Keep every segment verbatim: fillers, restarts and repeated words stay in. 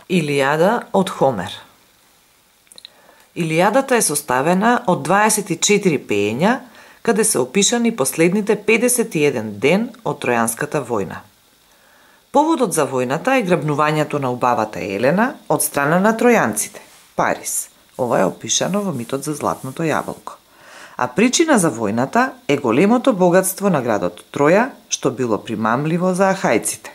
Илијада од Хомер. Илијадата е составена од дваесет и четири пеења, каде се опишани последните педесет и еден ден од Тројанската војна. Поводот за војната е грабнувањето на убавата Елена од страна на тројанците, Парис. Ова е опишано во митот за Златното јаболко. А причина за војната е големото богатство на градот Троја, што било примамливо за ахајците.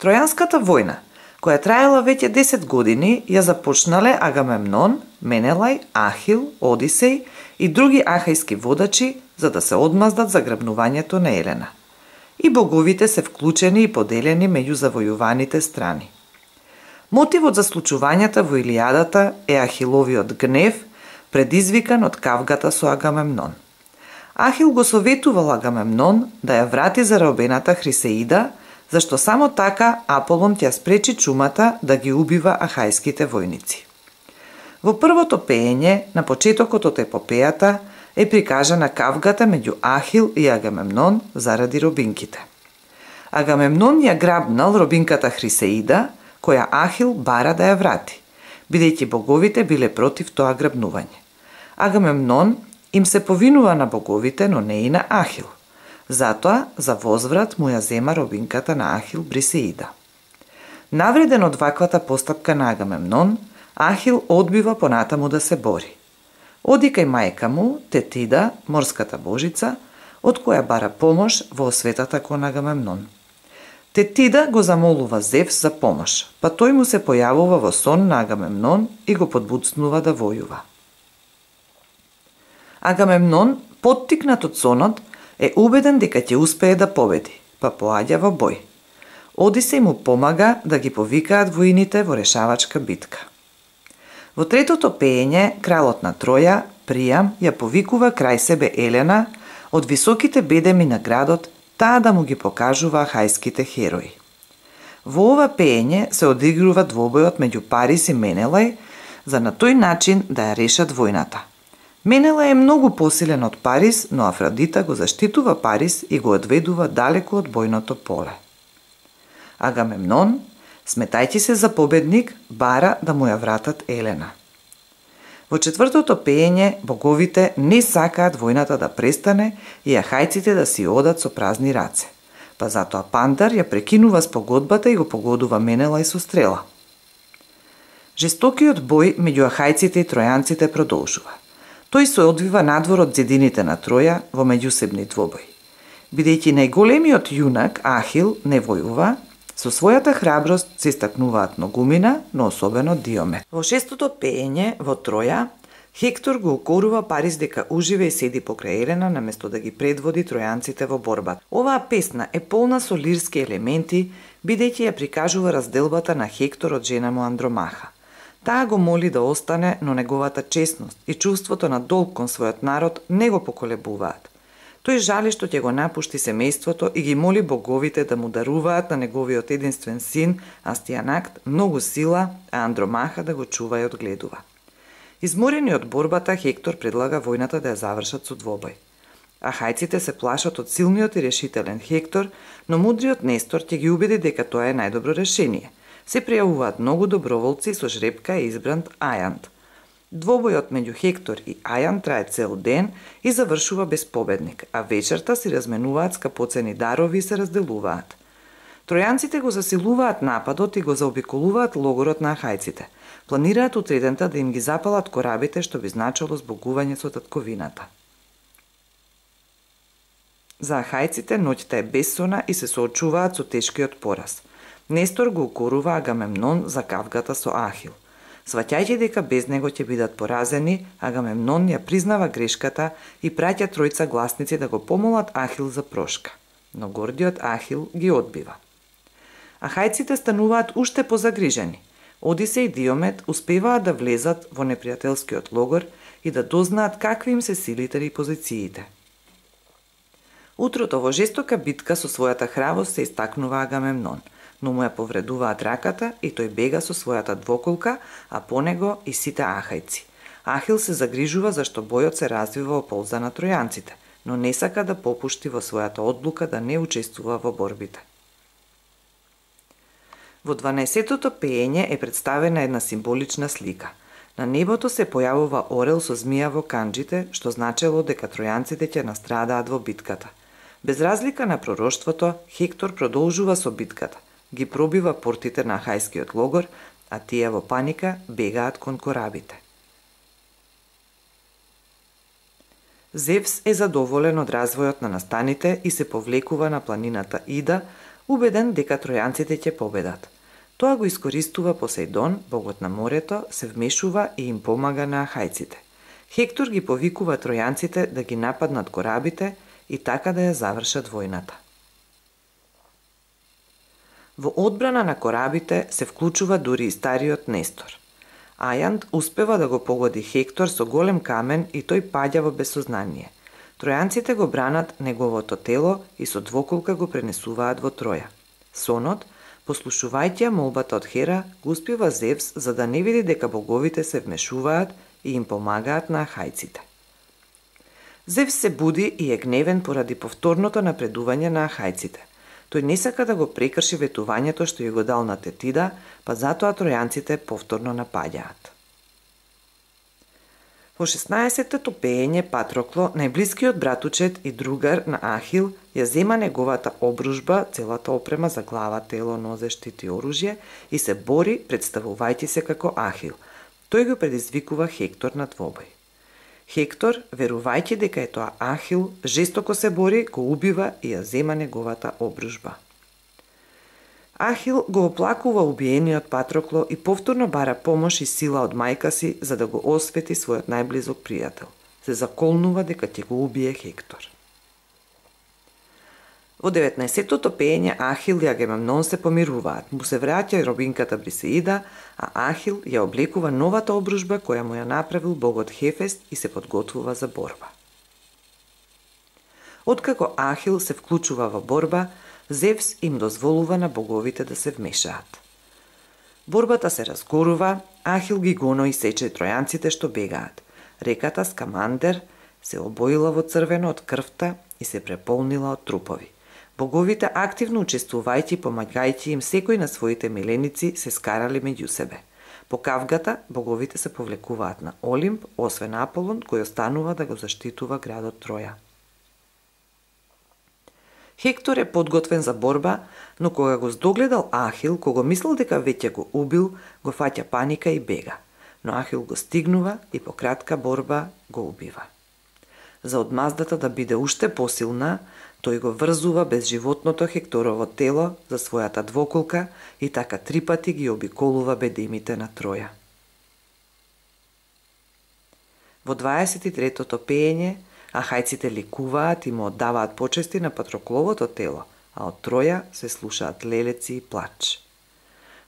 Тројанската војна, која траела веќе десет години, ја започнале Агамемнон, Менелај, Ахил, Одисеј и други ахајски водачи за да се одмаздат за грабнувањето на Елена. И боговите се вклучени и поделени меѓу завојуваните страни. Мотивот за случувањата во Илијадата е Ахиловиот гнев, предизвикан од кавгата со Агамемнон. Ахил го советувал Агамемнон да ја врати заробената Хрисеида, зашто само така Аполон ќе спречи чумата да ги убива ахајските војници. Во првото пеење, на почетокот од епопејата, е прикажана кавгата меѓу Ахил и Агамемнон заради робинките. Агамемнон ја грабнал робинката Хрисеида, која Ахил бара да ја врати, бидејќи боговите биле против тоа грабнување. Агамемнон им се повинува на боговите, но не и на Ахил. Затоа, за возврат му ја зема робинката на Ахил Брисеида. Навреден од ваквата постапка на Агамемнон, Ахил одбива понатаму да се бори. Оди кај мајка му, Тетида, морската божица, од која бара помош во осветата кон Агамемнон. Тетида го замолува Зевс за помош, па тој му се појавува во сон на Агамемнон и го подбуцнува да војува. Агамемнон, поттикнат од сонот, е убеден дека ќе успее да победи, па поаѓа во бој. Одисеј му помага да ги повикаат воините во решавачка битка. Во третото пеење, кралот на Троја, Приам, ја повикува крај себе Елена од високите бедеми на градот, таа да му ги покажува ахајските херои. Во ова пеење се одигрува двобојот меѓу Парис и Менелај за на тој начин да ја решат војната. Менелај е многу посилен од Парис, но Афродита го заштитува Парис и го одведува далеку од бојното поле. Агамемнон, сметајќи се за победник, бара да му ја вратат Елена. Во четвртото пеење, боговите не сакаат војната да престане и ахајците да си одат со празни раце, па затоа Пандар ја прекинува спогодбата и го погодува Менелај со стрела. Жестокиот бој меѓу ахајците и тројанците продолжува. Тој се одвива надвор од зидините на Троја во меѓусебни двобој. Бидејќи најголемиот јунак, Ахил, не војува, со својата храброст се истакнуваат многумина, но особено Диомед. Во шестото пеење, во Троја, Хектор го укорува Парис дека уживе и седи покрај Елена наместо да ги предводи тројанците во борба. Оваа песна е полна со лирски елементи, бидејќи ја прикажува разделбата на Хектор од жена му Андромаха. Таа го моли да остане, но неговата честност и чувството на долг кон својот народ не го поколебуваат. Тој жали што ќе го напушти семејството и ги моли боговите да му даруваат на неговиот единствен син, Астијанакт, многу сила, а Андромаха да го чува и одгледува. Изморени од борбата, Хектор предлага војната да ја завршат со двобој. Ахајците се плашат од силниот и решителен Хектор, но мудриот Нестор ќе ги убеди дека тоа е најдобро решение. Се пријавуваат многу доброволци и со жребка е избран Ајант. Двобојот меѓу Хектор и Ајан трае цел ден и завршува без победник, а вечерта си разменуваат скапоцени дарови и се разделуваат. Тројанците го засилуваат нападот и го заобиколуваат логорот на ахајците. Планираат утредента да им ги запалат корабите, што би значило збогување со татковината. За ахајците ноќта е бессона и се соочуваат со тешкиот пораз. Нестор го укорува Агамемнон за кавгата со Ахил. Сваќајќи дека без него ќе бидат поразени, Агамемнон ја признава грешката и праќа тројца гласници да го помолат Ахил за прошка. Но гордиот Ахил ги одбива. Ахајците стануваат уште позагрижени. Одисеј и Диомед успеваат да влезат во непријателскиот логор и да дознаат какви им се силите и позициите. Утрото во жестока битка со својата храброст се истакнува Агамемнон, но му ја повредуваат раката и тој бега со својата двоколка, а по него и сите ахајци. Ахил се загрижува зашто бојот се развива во полза на тројанците, но не сака да попушти во својата одлука да не учествува во борбите. Во дванаесеттото пеење е представена една символична слика. На небото се појавува орел со змија во канџите, што значело дека тројанците ќе настрадаат во битката. Без разлика на пророштвото, Хектор продолжува со битката, ги пробива портите на ахајскиот логор, а тие во паника бегаат кон корабите. Зевс е задоволен од развојот на настаните и се повлекува на планината Ида, убеден дека тројанците ќе победат. Тоа го искористува Посејдон, богот на морето, се вмешува и им помага на ахајците. Хектор ги повикува тројанците да ги нападнат корабите и така да ја завршат војната. Во одбрана на корабите се вклучува дури и стариот Нестор. Ајанд успева да го погоди Хектор со голем камен и тој паѓа во безсознание. Тројанците го бранат неговото тело и со двоколка го пренесуваат во Троја. Сонот, послушувајќи ја молбата од Хера, го успива Зевс за да не види дека боговите се вмешуваат и им помагаат на ахајците. Зевс се буди и е гневен поради повторното напредување на ахајците. Тој не сака да го прекрши ветувањето што ја го дал на Тетида, па затоа тројанците повторно напаѓаат. Во шеснаесеттото пеење Патрокло, најблискиот братучет и другар на Ахил, ја зема неговата обружба, целата опрема за глава, тело, нозе, штит и оружје и се бори, представувајќи се како Ахил. Тој го предизвикува Хектор на двобој. Хектор, верувајќи дека е тоа Ахил, жестоко се бори, го убива и ја зема неговата обружба. Ахил го оплакува убиениот Патрокло и повторно бара помош и сила од мајка си за да го освети својот најблизок пријател. Се заколнува дека ќе го убие Хектор. Во деветнаесеттото пеење Ахил и Агамемнон се помируваат, му се враќа и робинката Брисеида, а Ахил ја облекува новата обружба која му ја направил богот Хефест и се подготвува за борба. Откако Ахил се вклучува во борба, Зевс им дозволува на боговите да се вмешаат. Борбата се разгорува, Ахил ги гоно и сече тројанците што бегаат. Реката Скамандер се обоила во црвено од крвта и се преполнила од трупови. Боговите, активно учествувајќи и помагајќи им секој на своите миленици, се скарали меѓу себе. По кавгата, боговите се повлекуваат на Олимп, освен Аполон, кој останува да го заштитува градот Троја. Хектор е подготвен за борба, но кога го здогледал Ахил, кога мислел дека веќе го убил, го фаќа паника и бега. Но Ахил го стигнува и по кратка борба го убива. За одмаздата да биде уште посилна, тој го врзува безживотното Хекторово тело за својата двоколка и така три пати ги обиколува бедемите на Троја. Во дваесет и третото пеење, ахајците ликуваат и му оддаваат почести на Патрокловото тело, а од Троја се слушаат лелеци и плач.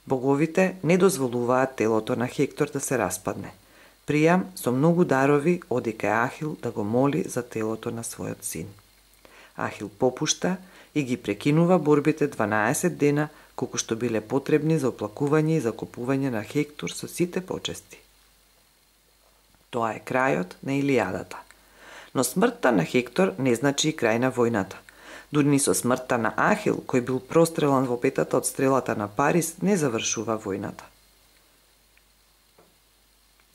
Боговите не дозволуваат телото на Хектор да се распадне. Пријам со многу дарови оди кај Ахил да го моли за телото на својот син. Ахил попушта и ги прекинува борбите дванаесет дена, колку што биле потребни за оплакување и закупување на Хектор со сите почести. Тоа е крајот на Илијадата. Но смртта на Хектор не значи и крај на војната. Дури ни со смртта на Ахил, кој бил прострелан во петата од стрелата на Парис, не завршува војната.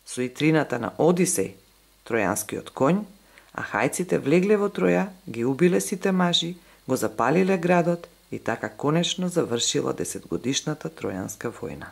Со итрината на Одисеј, тројанскиот конј, ахајците влегле во Троја, ги убиле сите мажи, го запалиле градот и така конечно завршила десетгодишната тројанска војна.